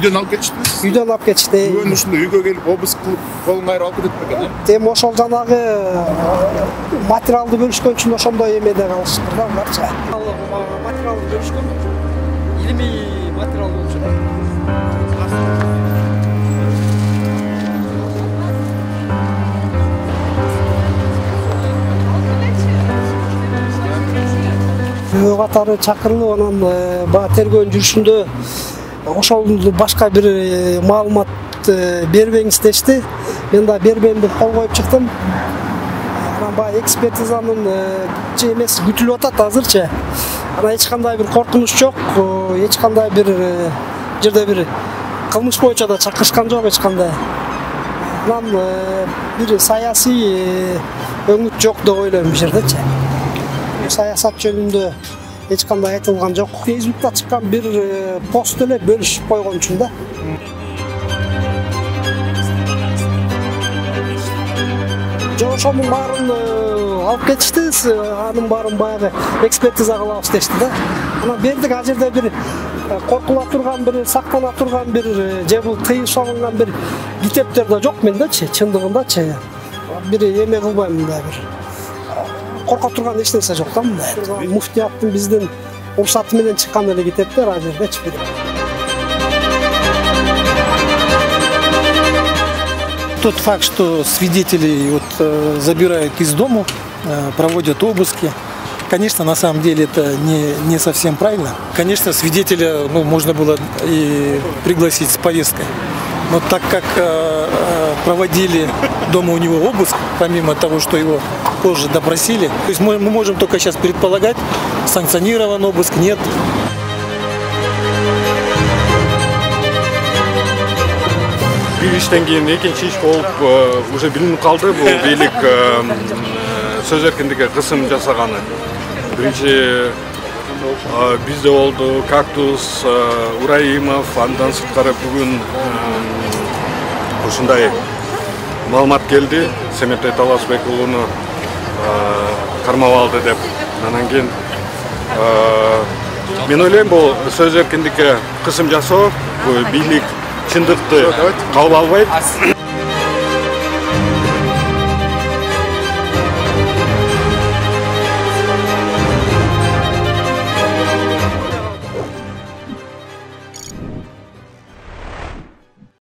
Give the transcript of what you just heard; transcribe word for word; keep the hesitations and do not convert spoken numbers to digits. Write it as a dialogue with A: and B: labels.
A: Үйдөн алып кетиштиби?
B: Үйдөн алып кетишти.
A: Күбөнүн үстүндө үйгө келип обыск кылып колун кайрып алып кетет бекен, э?
B: Эми ошол жанагы материалды бөлүшкөн үчүн ошондой эмеде калышыптыр да аларчы. Материалды бөлүшкөн илимий материал болчу. Күбө катары чакырылып, анан баягы тергөөнүн жүрүшүндө ошол башка бир маалымат бербеңиз дешти. Мен да бербейм деп кол коюп чыктым. Анан баягы экспертизанын эмеси күтүлүп атат азырчы. Анан эч кандай бир коркунуч жок, эч кандай бир жерде бир кылмыш боюнча да чакырышкан жок эч кандай. Анан бир саясий өңүт жок деп ойлойм бул жердечи. Саясат жөнүндө эч кандай айтылган жок. Фейсбукта чыккан бир пост эле бөлүшүп койгон үчүн да. Жок, ошонун баарын алып кетишти, анын баарын баягы экспертиза кылабыз дешти да. Анан бердик, ал жерде бир коркула турган, бир сактана турган, бир же бул тыйым салынган бир китептер да жок мендечи, чындыгындачы. Бир эме кылбайм мындай бир. Корко турган эч нерсе жок да мындай. Муфтияттын биздин уруксаты менен чыккан эле китептер ал жердечи.
C: Тот факт, что свидетелей вот, забирают из дома, проводят обыски, конечно, на самом деле это не, не совсем правильно. Конечно, свидетеля ну, можно было и пригласить с повесткой. Но так как э, проводили дома у него обыск, помимо того, что его позже допросили, то есть мы, мы можем только сейчас предполагать, санкционирован обыск, нет.
D: Бир иштен кийин экинчи иш болуп уже билинип калды, бул бийлик сөз эркиндигине кысым жасаганы. Биринчи бизде болду Кактус, Ураимов, андан сырткары бүгүн ушундай маалымат келди, Семетей Таласбек уулуну кармап алды деп. Анан кийин мен ойлойм, бул сөз эркиндикке кысым жасоо, бул бийлик чындыкты кабыл албайт.